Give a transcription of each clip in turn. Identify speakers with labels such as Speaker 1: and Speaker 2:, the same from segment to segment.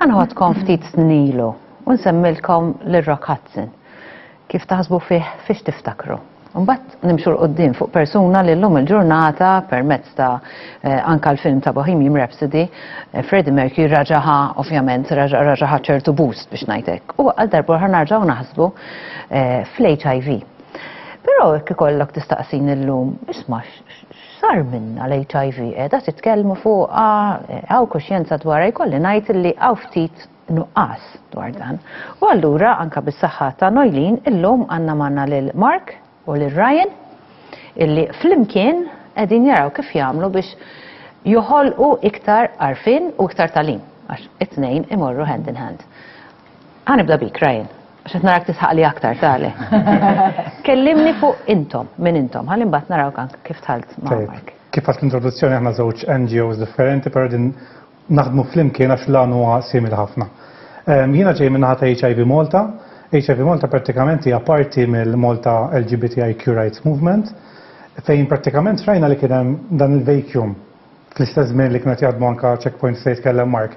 Speaker 1: Ħa noħodkom ftit snin ilu u nsemmilkom lil Rock Hudson. Kif taħsbu fih fiex tiftakru? Mbagħad nimxu 'l quddiem fuq persuna li llum il-ġurnata permezz ta' anka l-film ta' Bohemian Rhapsody, Freddie Mercury raġa' ħa ovvjament raġa' raġa' ħa ċertu boost biex ngħid hekk. U għal darb'oħra narġgħu naħsbu fl-HIV. Però jekk ikollok tistaqsini llum, isma' x'sar minnha l-HIV? Qiegħda titkellmu fuqha, hawn kuxjenza dwarha, jkolli ngħid li hawn ftit nuqqas dwar dan. U allura anka bis-saħħa ta' Noylene illum għandna magħna lil Mark u lil Ryan illi flimkien qegħdin jaraw kif jagħmlu biex joħolqu iktar għarfien u iktar tagħlim għax it-tnejn imorru hand in hand. Ħa nibda bik Ryan, għax qed narak tisħaq li aktar tale. Kellimni fuq intom, min intom, ħalli mbagħad narawk anke kif dħalt ma' Mark.
Speaker 2: Kif għat l-introduzzjoni aħna żewġ NGOs differenti, però din naħdmu flimkien għax l-għan huwa simili ħafna. Jiena ġej min-naħa ta' HIV Malta. HIV Malta prattikament hija parti mill-Malta LGBTIQ Rights Movement fejn prattikament rajna li kien hemm dan il-vacuum fl-istess żmien li kienet jaħdmu anka Checkpoint se jitkellem Mark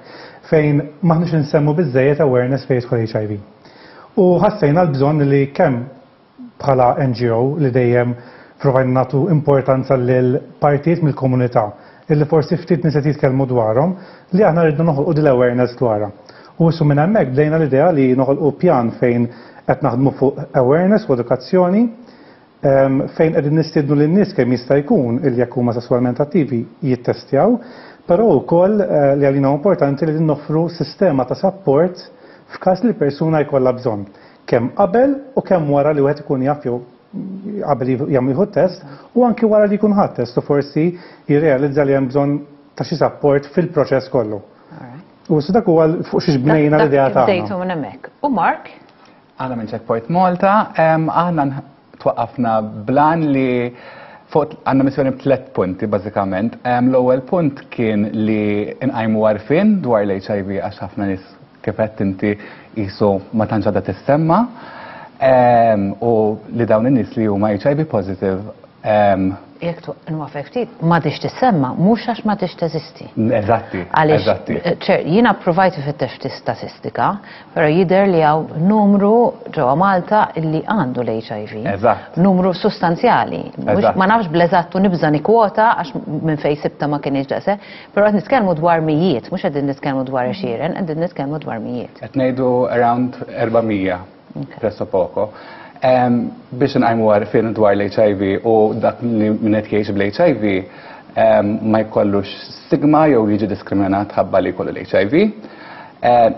Speaker 2: fejn m'aħniex insemmu biżejjed awareness fejn jidħol HIV. U ħassejna l-bżonn li kemm bħala NGO li dejjem provajna nagħtu importanza lil partijiet mill-komunità illi forsi ftit nies qed jitkellmu dwarhom li aħna rridna noħolqu dil awareness dwarha. U issa minn hemmhekk bdejna l-idea li noħolqu pjan fejn qed naħdmu fuq awareness u edukazzjoni fejn qegħdin nistiednu lin-nies kemm jista' jkun illi jekk huma sesswalment attivi jittestjaw, però wkoll li għalina importanti li noffru sistema ta' support f'każ li l-persuna jkollha bżonn. Kemm qabel u kemm wara li wieħed ikun jaf jew qabel jagħmel jieħu test u anki wara li jkun ħadd test u forsi jirrealizza li hemm bżonn ta' xi support fil-proċess kollu. U dak huwa fuq xiex bnejna l-idea tagħna.
Speaker 1: Bdejtu minn hemmhekk. U Mark?
Speaker 3: Aħna minn Checkpoint Malta, aħna twaqqafna bl-għan li fuq għandna missjoni b'tliet punti bażikament. L-ewwel punt kien li nqajmu għarfien dwar l-HIV għax ħafna nies kif qed inti qisu ma tantx għadha tissemma u li dawn in-nies li huma HIV positive
Speaker 1: Jekk nwafek ftit, m'għadhiex tissemma, mhux għax m'għadhiex teżisti.
Speaker 3: Eżatti.
Speaker 1: Għaliex jiena provajt ifittex ftit statistika, però jidher li hawn numru ġewwa Malta illi għandu l-HIV.
Speaker 3: Eżatt.
Speaker 1: Numru sostanzjali. Ma nafx bl-eżatt u nibża' nikkwota għax minn fejn sibta ma kienx daqshekk, però qed nitkellmu dwar mijiet, mhux qegħdin nitkellmu dwar għexieren, qegħdin nitkellmu dwar mijiet.
Speaker 3: Qed ngħidu around 400 presso poco. Biex nqajmu għarfien dwar l-HIV u dak li min qed jgħix bl-HIV ma jkollux stigma jew jiġi diskriminat ħabba li jkollu l-HIV.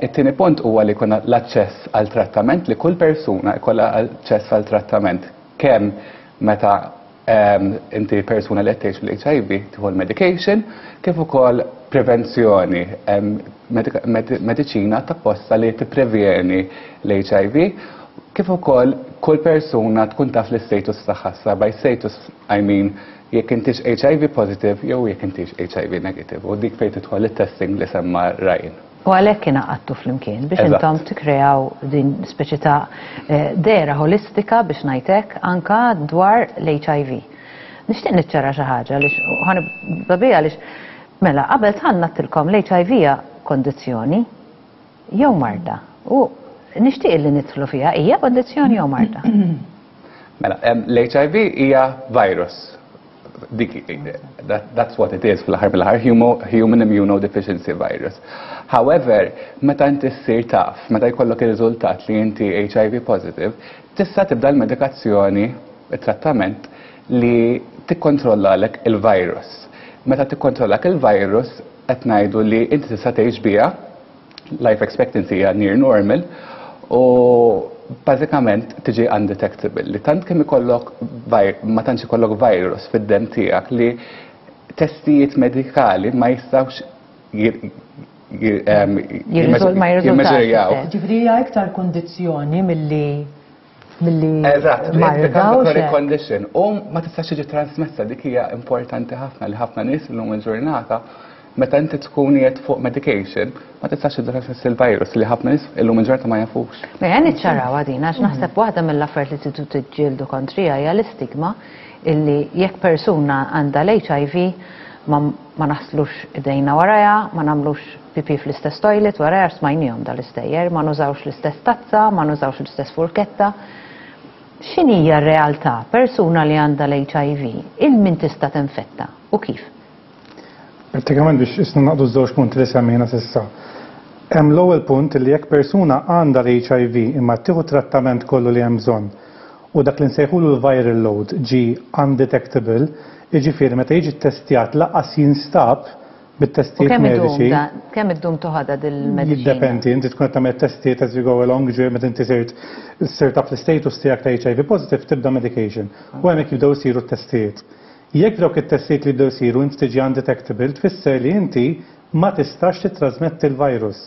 Speaker 3: It-tieni punt huwa li jkollna l-aċċess għal trattament li kull persuna jkollha aċċess għal trattament kemm meta inti persuna li qed tgħix bl-HIV tieħu l-medication kif ukoll prevenzjoni mediċina tapposta li tipprevjeni l-HIV kif ukoll kull persuna tkun taf l-status tagħha. Sa by status I mean jekk intix HIV positive jew jekk intix HIV negative u dik fejn tidħol it-testing li semma Ryan.
Speaker 1: U għalhekk ingħaqadtu flimkien biex intom tikkreaw din speċi ta' dehra ħolistika biex ngħid hekk anka dwar l-HIV. Nixtieq niċċara xi ħaġa għaliex ħa nibda biha għaliex mela qabel dħalna għedtilkom l-HIV hija kondizzjoni jew marda u nixtieq li nidħlu fiha hija kondizzjoni jew marda.
Speaker 3: Mela, l-HIV hija virus. Dik, that's what it is fl-aħħar mill-aħħar, human immunodeficiency virus. However, meta inti ssir taf, meta jkollok ir-riżultat li inti HIV positive, tista' tibda l-medikazzjoni, it-trattament li tikkontrollalek il-virus. Meta tikkontrollak il-virus, qed ngħidu li inti tista' tgħix biha, life expectancy hija near normal, u bażikament tiġi undetectable. Li tant kemm ikollok ma tantx ikollok virus fid-demm tiegħek li testijiet medikali ma jistgħux
Speaker 1: jimmeżurjaw.
Speaker 4: Ġifieri hija iktar kondizzjoni milli milli
Speaker 3: Eżatt, chronic condition. U ma tistax tiġi trasmessa dik hija importanti ħafna li ħafna nies illum il-ġurnata meta inti tkun qiegħed fuq medication ma tistax tiġi trasmessa il-virus li ħafna nies illum il-ġurnata ma jafux.
Speaker 1: Mela niċċaraw din għax naħseb waħda mill-affarijiet li tridu tiġġieldu kontrija hija l-istigma illi jekk persuna għandha l-HIV ma ma naħslux idejna warajha, ma nagħmlux pipi fl-istess toilet warajha smajniehom dal-istejjer, ma nużawx l-istess tazza, ma nużawx l-istess furketta. X'inhija r-realtà? Persuna li għandha l-HIV, 'il min tista' tinfetta u kif?
Speaker 2: Prattikament biex isna naqdu żewġ punti li semmejna s'issa. Hemm l-ewwel punt li jekk persuna għandha l-HIV imma tieħu trattament kollu li hemm bżonn u dak li nsejħulu l-viral load ġie undetectable, jiġifieri meta jiġi ttestjat lanqas jinstab bit-testijiet mediċi.
Speaker 1: Kemm iddum toħodha dil-mediċina?
Speaker 2: Jiddependi, inti tkun qed tagħmel testijiet as you go along, ġifieri meta inti sirt sirt taf l-istatus tiegħek ta' HIV positive tibda medication u hemmhekk jibdew isiru t-testijiet. Jekk dawk it-testijiet li jibdew isiru inti tiġi undetectable tfisser li inti ma tistax tittrasmetti l-virus.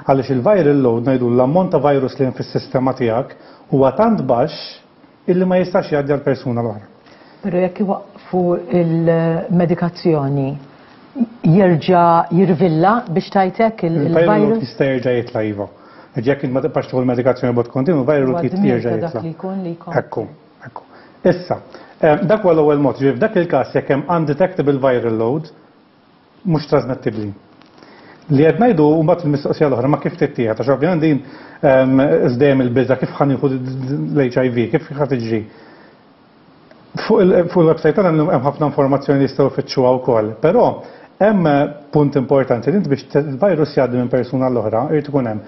Speaker 2: Għaliex il-viral load ngħidu l-ammont ta' virus li hemm fis-sistema tiegħek huwa tant baxx illi ma jistax jgħaddi għall-persuna l-oħra.
Speaker 4: Però jekk iwaqqfu il-medikazzjoni jerġa' jirvilla biex tgħid hekk
Speaker 2: il-virus? Jista' jerġa' jitla' iva. Jekk int ma tibqax tieħu l-medikazzjoni b'mod kontinu, il-viral load jerġa' jitla'. Ekku, ekku. Issa, dak huwa l-ewwel mod, ġifieri f'dak il-każ jekk hemm undetectable viral load, mhux trasmettibbli. Li qed ngħidu mbagħad il-mistoqsija l-oħra ma kif tittieħed għax ovvjament din dejjem il-biża' kif ħa nieħu l-HIV, kif ħa tiġri. Fuq il-website tagħna hemm ħafna informazzjoni li jistgħu jfittxuha wkoll, però hemm punt importanti li inti biex il-virus jgħaddi minn persuna l-oħra irid ikun hemm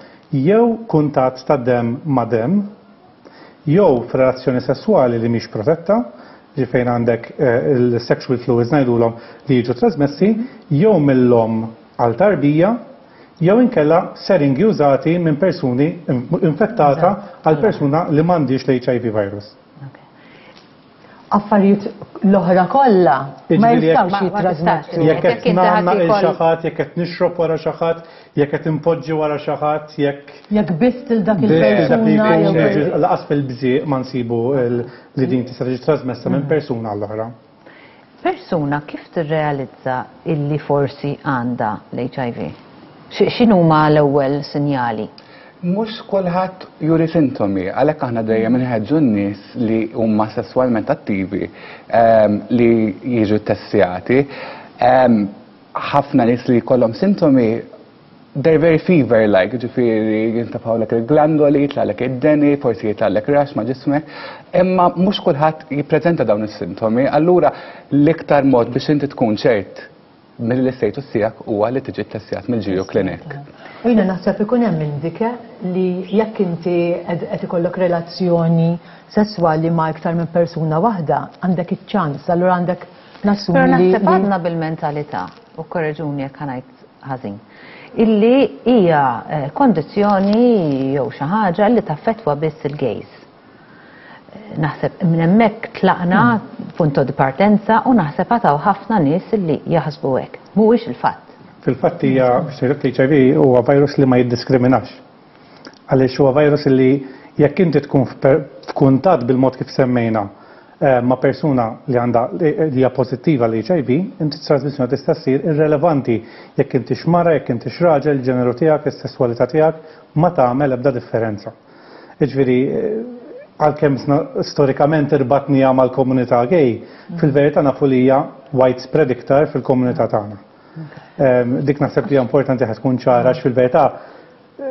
Speaker 2: jew kuntatt ta' demm ma' demm, jew f'relazzjoni sesswali li mhix protetta, ġi fejn għandek il-sexual fluids ngħidulhom li jiġu trasmessi, jew mill-omm għal tarbija, jew inkella seringi użati minn persuni infettata għal persuna li m'għandhiex l-HIV virus.
Speaker 4: Affarijiet l-oħra kollha ma jistgħux jittrasmettu.
Speaker 2: Jekk qed nagħmel il xi ħadd, jekk qed nixrob wara xi ħadd, jekk qed inpoġġi wara xi ħadd, jekk.
Speaker 4: Jekk biss lil dak il-persuna.
Speaker 2: Laqas fil-bżieq ma nsibu li din tista' tiġi trasmessa minn persuna għall-oħra.
Speaker 1: Persuna kif tirrealizza illi forsi għandha l-HIV? X'inhuma l-ewwel sinjali?
Speaker 3: Mhux kulħadd juri sintomi, għalhekk aħna dejjem inħeġġu n-nies li huma sesswalment attivi li jiġu ttestjati. Ħafna nies li jkollhom sintomi they're very fever-like, ġifieri jintafgħulek il-glandoli, jitlagħlek id-deni, forsi jitlagħlek rash ma' ġismek, imma mhux kulħadd jippreżenta dawn is-sintomi, allura l-iktar mod biex inti tkun ċert mill-istatus tiegħek huwa li tiġi ttestjat mill-GU Clinic.
Speaker 4: U jiena naħseb ikun hemm indike li jekk inti qed ikollok relazzjoni sesswali ma' iktar minn persuna waħda, għandek iċ-ċans, allura għandek nassumi
Speaker 1: li. Però naħseb għadna bil-mentalità, u korreġuni jekk ħa ngħid ħażin, illi hija kondizzjoni jew xi ħaġa li taffettwa biss il-gays. Naħseb minn hemmhekk tlaqna punto di partenza u naħseb għad hawn ħafna nies illi jaħsbu hekk. Mhuwiex il-fatt.
Speaker 2: Fil-fatt hija biex ngħidlek l-HIV huwa virus li ma jiddiskriminax. Għaliex huwa virus li jekk inti tkun f'kuntatt bil-mod kif semmejna ma' persuna li għandha li hija pożittiva għall-HIV, inti t-trasmissjoni tista' ssir irrelevanti jekk intix mara, jekk intix raġel, il-ġeneru tiegħek, is-sesswalità tiegħek, ma tagħmel ebda differenza. Jiġifieri għalkemm storikament irbatniha mal-komunità gay, fil-verità nafu li hija widespread iktar fil-komunità tagħna. Dik naħseb li hija importanti ħa tkun ċara għax fil-verità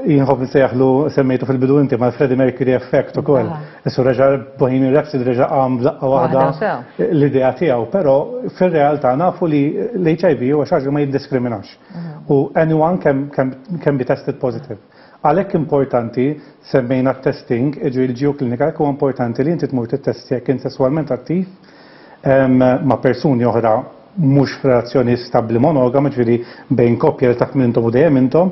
Speaker 2: jien nħobb nsejjaħlu semmejtu fil-bidu inti mal-Freddie Mercury effect ukoll. Issu reġa' Bohemian Rhapsody reġa' qam b'daqqa waħda l-idea tiegħu, però fir-realtà nafu li l-HIV huwa xi ħaġa li ma jiddiskriminax. U anyone can, can, can be tested positive. Għalhekk importanti semmejna t-testing, jiġifieri l-GU Clinic, għalhekk huwa importanti li inti tmur tittestja jekk int sesswalment attiv ma' persuni oħra mhux f'relazzjoni stabbli monogama, ġifieri bejn koppja li taf min intom u dejjem intom,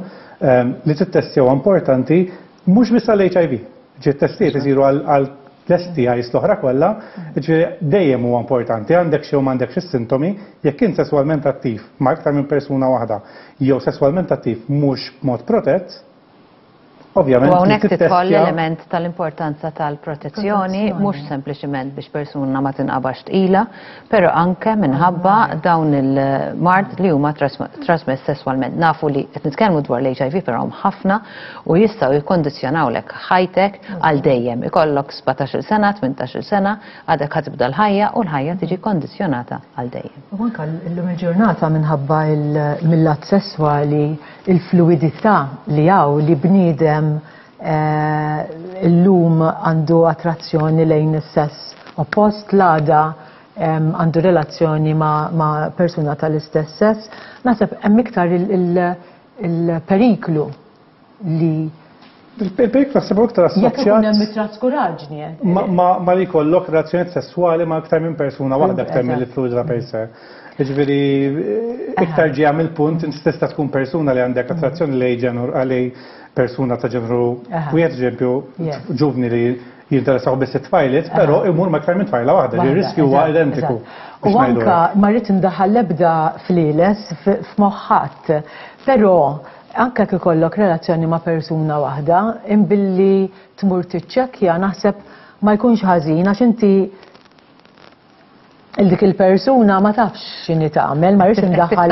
Speaker 2: li tittestja huwa importanti mhux biss għall-HIV. Ġifieri t-testijiet isiru għal l-STIs l-oħra kollha, ġifieri dejjem huwa importanti għandek xi jew m'għandekx is-sintomi, jekk int sesswalment attiv ma' iktar minn persuna waħda jew sesswalment attiv mhux b'mod protett. Ovvjament.
Speaker 1: U hawnhekk tidħol l-element tal-importanza tal-protezzjoni, mhux sempliċiment biex persuna ma tinqabax tqila, però anke minħabba dawn il-mard li huma trasmess sesswalment. Nafu li qed nitkellmu dwar l-HIV però hemm ħafna u jistgħu jikkondizzjonawlek ħajtek għal dejjem. Ikollok 17-il sena, 18-il sena, għadek ħa tibda l-ħajja u l-ħajja tiġi kondizzjonata għal dejjem.
Speaker 4: U anke llum il-ġurnata minħabba mill-lat sesswali il-fluwidità li hawn li bniedem illum għandu attrazzjoni lejn is-sess oppost, l-għada għandu relazzjoni ma' persuna tal-istess sess, naħseb hemm iktar il-periklu li
Speaker 2: Il-periklu naħseb iktar assoċjat.
Speaker 4: Jekk ikun hemm it-traskuraġni.
Speaker 2: Ma li jkollok relazzjonijiet sesswali ma' iktar minn persuna waħda iktar mill-fluwidità per se. Jiġifieri iktar ġejja mill-punt inti tista' tkun persuna li għandek attrazzjoni lej ġenru lej persuna ta' ġenru wieħed eżempju ġuvni li jinteressaw biss it-tfajliet, però imur ma' iktar minn tfajla waħda, li r-riskju huwa identiku.
Speaker 4: U anka ma rrid indaħħal l-ebda flieles f'moħħ ħadd, però anke jekk ikollok relazzjoni ma' persuna waħda, imbilli tmur tiċċekkja naħseb ma jkunx ħażin għax inti dik il-persuna ma tafx x'inhi tagħmel, ma rridx indaħħal.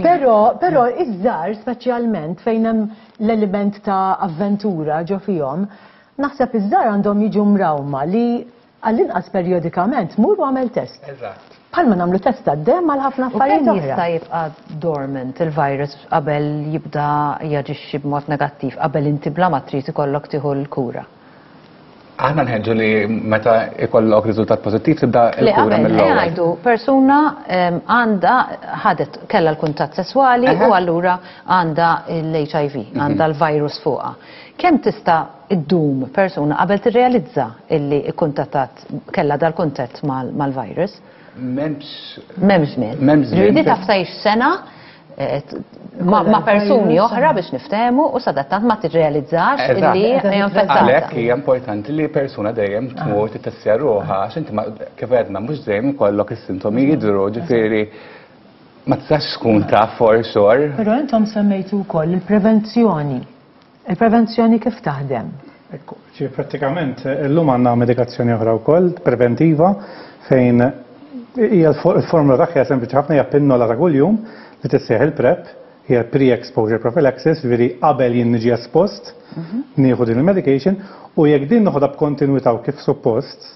Speaker 4: Però però iż-żgħar speċjalment fejn hemm l-element ta' avventura ġo fihom, naħseb iż-żgħar għandhom jiġu mrawma li għall-inqas perjodikament mur u għamel test.
Speaker 3: Eżatt.
Speaker 4: Bħalma nagħmlu test tad-demm għal ħafna affarijiet
Speaker 1: oħra. Jista' jibqa' dormant il-virus qabel jibda jaġixxi b'mod negattiv, qabel inti bla ma trid ikollok tieħu l-kura.
Speaker 3: Aħna nħeġġu li meta ikollok riżultat pożittiv tibda l-kura mill-ewwel.
Speaker 1: Ngħidu persuna għandha ħadet kellha l-kuntatt sesswali u allura għandha l-HIV, mhm. għandha l-virus fuqha. Kemm tista' iddum persuna qabel tirrealizza illi kkuntattat kellha dal-kuntatt mal-virus?
Speaker 3: M'hemmx.
Speaker 1: M'hemmx żmien.
Speaker 3: M'hemmx żmien.
Speaker 1: Ġifieri taf tgħix sena eh, ma' persuni oħra biex niftehmu u sadattant ma tirrealizzax illi hija infettata.
Speaker 3: Għalhekk hija importanti li persuna dejjem tmur tittestja ruħha għax inti kif għedna mhux dejjem ikollok is-sintomi jidhru, ġifieri ma tistax tkun taf for sure.
Speaker 4: Però intom semmejtu wkoll il-prevenzjoni. Il-prevenzjoni kif taħdem?
Speaker 2: Ekku, ġi prattikament illum għandna medikazzjoni oħra wkoll preventiva fejn hija l-formula tagħha hija sempliċi ħafna hija pinnola ta' kuljum li tissejjaħ il-PrEP, hija pre-exposure prophylaxis, ġifieri qabel jien niġi espost mhm. nieħu din il-medication u jekk din noħodha b'kontinwità u kif suppost,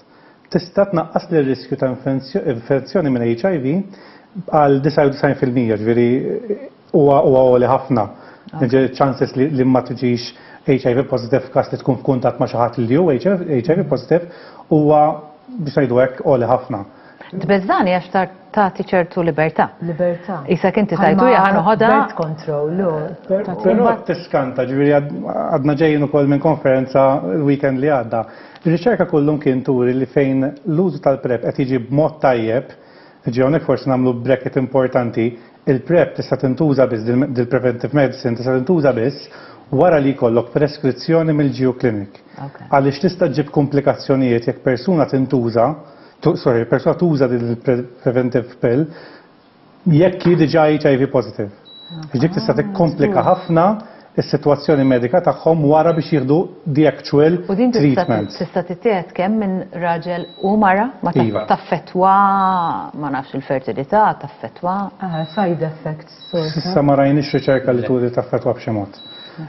Speaker 2: tista' tnaqqas li riskju ta' infezzjoni minn HIV għal 99%, ġifieri Huwa huwa għoli ħafna. Jiġifieri ċ-chances li li ma tiġix HIV positive f'każ li tkun f'kuntatt ma' xi ħadd li hu HIV positive huwa biex ngħidu hekk għoli ħafna.
Speaker 1: Tbeżżani għax tagħti ċertu libertà.
Speaker 4: Libertà.
Speaker 1: Isek inti tajtu hija ħa noħodha.
Speaker 4: Birth control,
Speaker 2: Però tiskanta, ġifieri għadna ġejjin ukoll minn konferenza l-weekend li għadda. Ir-riċerka kullum kien turi li fejn l-użu tal-PrEP qed jiġi b'mod tajjeb, ġifieri hawnhekk forsi nagħmlu bracket importanti, Il-PrEP tista' tintuża biss, dil-preventive medicine tista' tintuża biss wara li jkollok preskrizzjoni mill-GU clinic. Għaliex tista' ġġib komplikazzjonijiet jekk persuna tintuża, sorry, persuna tuża dil-preventive pill jekk hi diġà HIV positive. Dik tista' tikkomplika ħafna is-sitwazzjoni medika tagħhom wara biex jieħdu the actual
Speaker 1: U din
Speaker 2: treatment.
Speaker 1: tista' tittieħed kemm minn raġel u mara ma
Speaker 2: Iva.
Speaker 1: taffettwa ma nafx il-fertilità, taffettwa.
Speaker 4: Ah, side effects.
Speaker 2: S'issa ma rajniex riċerka li turi taffettwa b'xi mod.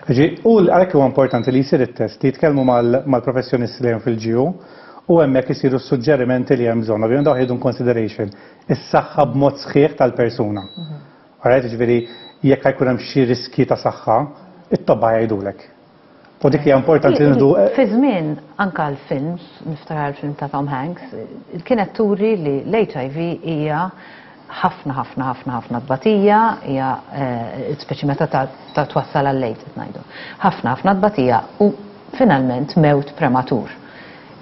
Speaker 2: Ġi, u għalhekk huwa importanti li jsir it-test, li jitkellmu mal-professjonisti li hemm fil-GU u hemmhekk isiru s-suġġerimenti li hemm bżonn. Ovvjament dawn jieħdu consideration is-saħħa b'mod sħiħ tal-persuna. Alright, ġifieri jekk ħa jkun hemm xi riskji ta' saħħa, it-tobba jgħidulek. U dik hija importanti li nieħdu.
Speaker 1: Fi żmien anka l-films, niftakar il-film ta' Tom Hanks, kienet turi li l-HIV hija ħafna ħafna ħafna ħafna tbatija, hija eh, speċi meta ta' twassal għal-lejt qed ngħidu. Ħafna ħafna tbatija u finalment mewt prematur.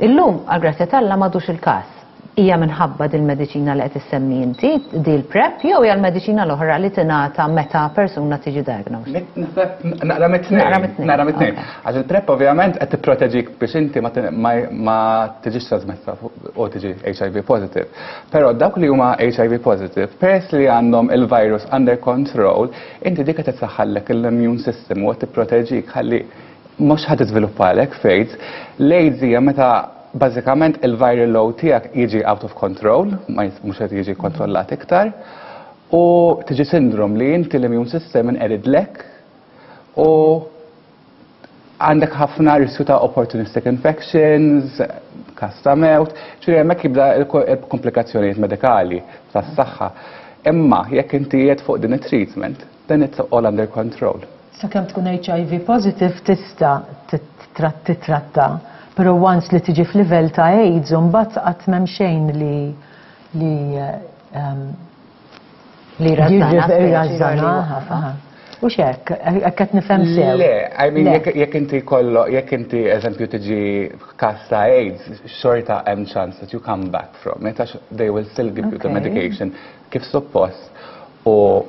Speaker 1: Illum għal grazzja t'Alla m'għadux il-każ. Hija minħabba dil-mediċina li qed issemmi inti, dil-PrEP, jew hija l-mediċina l-oħra li tingħata meta persuna tiġi diagnosed?
Speaker 3: Naħseb naqra mit-tnejn.
Speaker 1: Naqra mit-tnejn.
Speaker 3: Naqra mit-tnejn. Għax il-PrEP ovvjament qed tipproteġik biex inti ma tiġix trasmessa u tiġi HIV positive. Però dawk li huma HIV positive, peress li għandhom il-virus under control, inti dik qed tissaħħallek l-immune system u qed tipproteġik ħalli mhux ħa tiżviluppalek f'AIDS. L-AIDS hija meta bażikament il-viral load tiegħek jiġi out of control, mhux qed jiġi kontrollat iktar, u tiġi syndrome li inti l-immune system inqeridlek u għandek ħafna riskju ta' opportunistic infections, każ ta' mewt, ġifieri hemmhekk jibda il-komplikazzjonijiet medikali tas-saħħa. Imma jekk inti qiegħed fuq din it-treatment, then it's all under control.
Speaker 4: Sakemm tkun HIV positive tista' titratta, però once li tiġi f'livell ta' AIDS, mbagħad qatt m'hemm xejn li
Speaker 1: li
Speaker 4: jirrażżana. U xek, hekk qed nifhem sew.
Speaker 3: Le, I mean, jekk inti kollo, jekk inti eżempju tiġi każ ta' AIDS, xorta hemm chance that you come back from it, għax they will still give you the medication kif suppost. U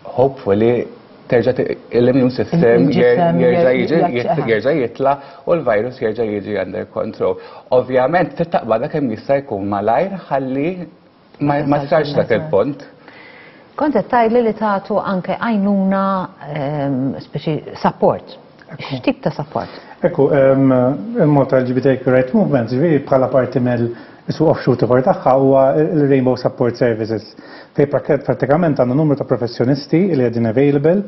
Speaker 3: hopefully terġa' l-immune system jerġa' jiġi jerġa' jitla u l-virus jerġa' jiġi under control. Ovvjament trid taqbadha kemm jista' jkun malajr ħalli ma sarx dak il-punt.
Speaker 1: Kont qed tgħidli li tagħtu anke għajnuna speċi support. X'tip ta' support?
Speaker 2: Ekku, il-Malta LGBTQ Right Movement, ġifieri bħala parti mill isu offshoot ieħor tagħha huwa il-Rainbow Support Services. Fej pratikament għandna numru ta' professjonisti li qegħdin available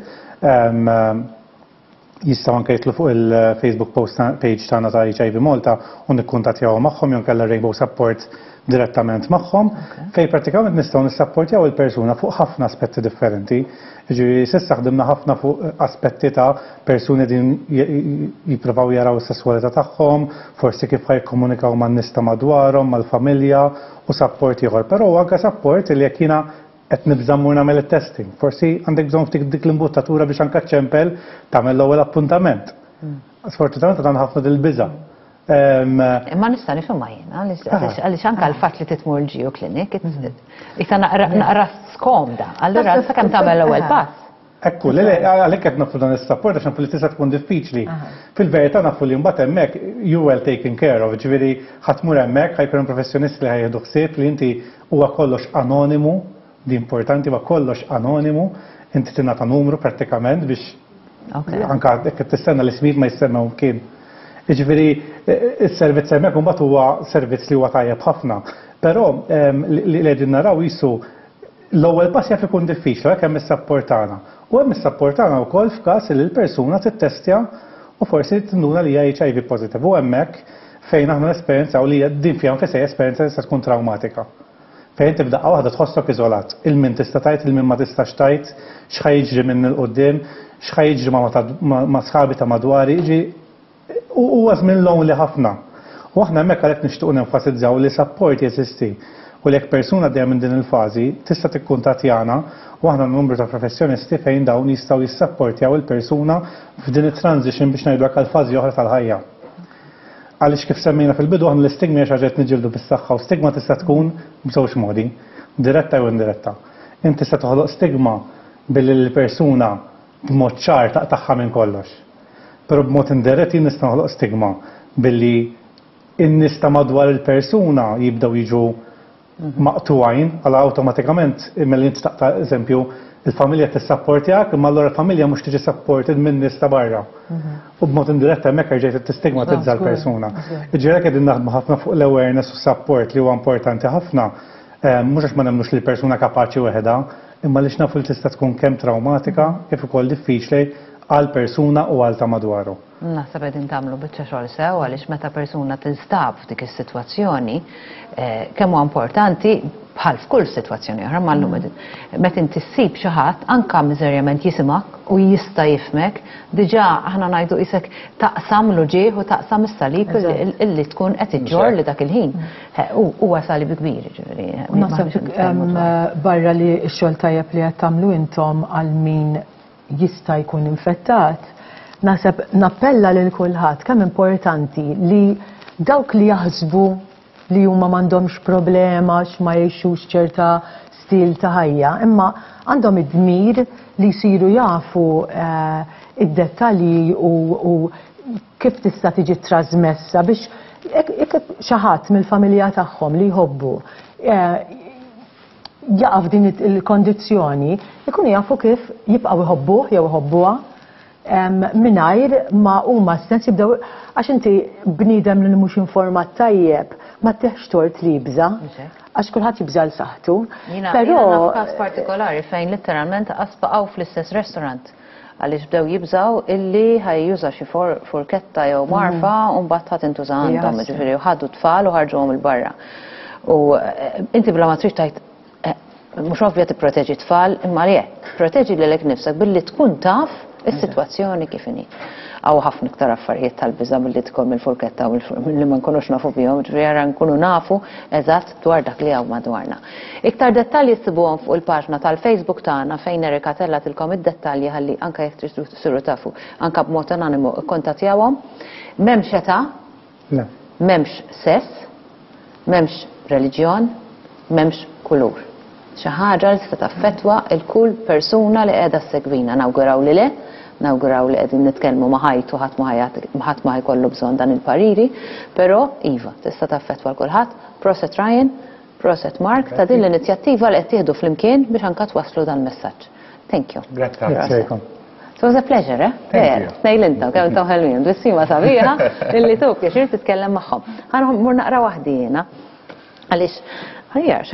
Speaker 2: jistgħu anke jitlu fuq il-Facebook post page tagħna ta' HIV Malta u nikkuntattjaw magħhom jew kellha Rainbow Support direttament magħhom, fej pratikament nistgħu nissapportjaw il-persuna fuq ħafna aspetti differenti. Ġifieri s'issa ħdimna ħafna fuq aspetti ta' persuni din jippruvaw jaraw is-sesswalità tagħhom, forsi kif ħa jikkomunikaw man-nies ta' madwarhom, mal-familja u support ieħor. Però anke support li jekk jiena qed nibża' mmur nagħmel it-testing. Forsi għandek bżonn ftit dik l-imbuttatura biex anke ċempel tagħmel l-ewwel appuntament. Sfortunatament għandna ħafna dil-biża'.
Speaker 1: Imma nista' nifhimha jiena, għaliex anke l-fatt li titmur l-GU clinic, issa naqra skomda. Allura sakemm tagħmel l-ewwel pass.
Speaker 2: Ekku, le, għalhekk qed nofru dan is-support għax nafu li tista' tkun diffiċli. Fil-verità nafu li mbagħad hemmhekk you well taken care of, ġifieri ħa tmur hemmhekk ħa jkun hemm professjonisti li ħa jieħdu ħsieb li inti huwa kollox anonimu, di importanti huwa kollox anonimu, inti tingħata numru prattikament biex anka jekk tistenna l-ismijiet ma jissemmew kien. Jiġifieri is-servizz hemmhekk imbagħad huwa servizz li huwa tajjeb ħafna. Però li qegħdin naraw jisu l-ewwel pass jaf ikun diffiċli hekk hemm is-support tagħna. U hemm is-support tagħna wkoll f'każ li l-persuna tittestja u forsi tinduna li hija HIV positive. U hemmhekk fejn aħna nesperjenzaw li din fiha nfisha esperjenza tista' tkun traumatika. Fejn inti f'daqqa waħda tħossok iżolat. Il-min tista' tgħid, il-min ma tistax tgħid, x'ħa jiġri minn 'il quddiem, x'ħa jiġri ma' sħabi ta' madwari, jiġi huwa żmien lonely ħafna. U aħna hemmhekk għalhekk nixtiequ nenfasizzaw li support jeżisti u li jekk persuna għaddejja minn din il-fażi tista' tikkuntattjana u aħna numru ta' professjonisti fejn dawn jistgħu jissapportjaw il-persuna f'din it-transition biex ngħidu hekk għal fażi oħra tal-ħajja. Għaliex kif semmejna fil-bidu aħna l-istigma hija xi ħaġa qed niġġieldu bis-saħħa u stigma tista' tkun b'żewġ modi, diretta jew indiretta. Inti tista' toħloq stigma billi l-persuna b'mod ċar taqtagħha minn kollox. Però b'mod indirett jien nista' noħloq stigma billi in-nies ta' madwar il-persuna jibdew jiġu maqtugħin, għala awtomatikament milli inti taqta' eżempju il-familja tissapportjak, imma allura l-familja mhux tiġi supported minn nies ta' barra. U b'mod indirett hemmhekk erġajt tistigmatizza l-persuna. Ġifieri qegħdin naħdmu ħafna fuq l-awareness u support li huwa importanti ħafna, mhux għax ma nemmnux li l-persuna kapaċi weħeda, imma li nafu li tista' tkun kemm traumatika kif ukoll diffiċli għal persuna u għal ta' madwaru.
Speaker 1: Naħseb qegħdin tagħmlu biċċa xogħol sew għaliex meta persuna tinstab f'dik is-sitwazzjoni, kemm huwa importanti bħal f'kull sitwazzjoni oħra ma llum meta inti ssib xi ħadd anke miżerjament jisimgħek u jista' jifhmek, diġà aħna ngħidu qisek taqsam l-uġigħ u taqsam is-salib illi tkun qed iġġorr li dak il-ħin. Huwa salib kbir, ġifieri.
Speaker 4: U naħseb barra li x-xogħol tajjeb li qed tagħmlu intom għal min jista' jkun infettat, naħseb nappella lil kulħadd kemm importanti li dawk li jaħsbu. li huma m'għandhomx problema għax ma jgħixux ċerta stil ta' ħajja, imma għandhom id-dmir li jsiru jafu id-dettalji u kif tista' tiġi trasmessa biex jekk xi ħadd mill-familja tagħhom li jħobbu jaqa' f'din il-kondizzjoni, ikunu jafu kif jibqgħu jħobbuh jew iħobbuha mingħajr ma huma stess jibdew għax inti bniedem li mhux informat tajjeb ma tieħx tort li jibża' għax kulħadd jibża' l saħħtu.
Speaker 1: Però każ partikolari fejn litteralment qas baqgħu fl-istess restaurant għaliex bdew jibżaw illi ħa juża xi forketta jew mgħarfa u mbagħad ħa tintuża għandhom, ġifieri ħadu tfal u ħarġuhom 'il barra. U inti bla ma trid tgħid mhux ovvja tipproteġi tfal, imma le, proteġi lilek nifsek billi tkun taf is-sitwazzjoni kif inhi. Hawn ħafna iktar affarijiet tal-biża' milli tkun mill-furketta u li ma nkunux nafu bihom, ġifieri ara nkunu nafu eżatt dwar dak li hawn madwarna. Iktar dettalji ssibuhom fuq il-paġna tal-Facebook tagħna fejn Erika tellatilkom id-dettalji ħalli anke jekk tridu tsiru tafu anke b'mod anonimu ikkontattjawhom. M'hemmx età, m'hemmx sess, m'hemmx reliġjon, m'hemmx kulur. Xi ħaġa li tista' taffettwa 'l kull persuna li qiegħda ssegwina. Nawguraw li le, nawguraw li qegħdin nitkellmu ma' ħajt u ħadd ma ħadd ma ħajkollu bżonn dan il-pariri, però iva, tista' taffettwa 'l kulħadd. Proset Ryan, proset Mark ta' din l-inizjattiva li qed tieħdu flimkien biex anka twasslu dan il-messaġġ. Thank you.
Speaker 3: Grazzi.
Speaker 1: It was a pleasure, eh?
Speaker 3: Thank you.
Speaker 1: Tnejn intom, kemm intom ħelwin, tbissima sabiħa illi tu pjaċir titkellem magħhom. Ħa mmur naqra waħdi jiena. Għaliex, ħajja,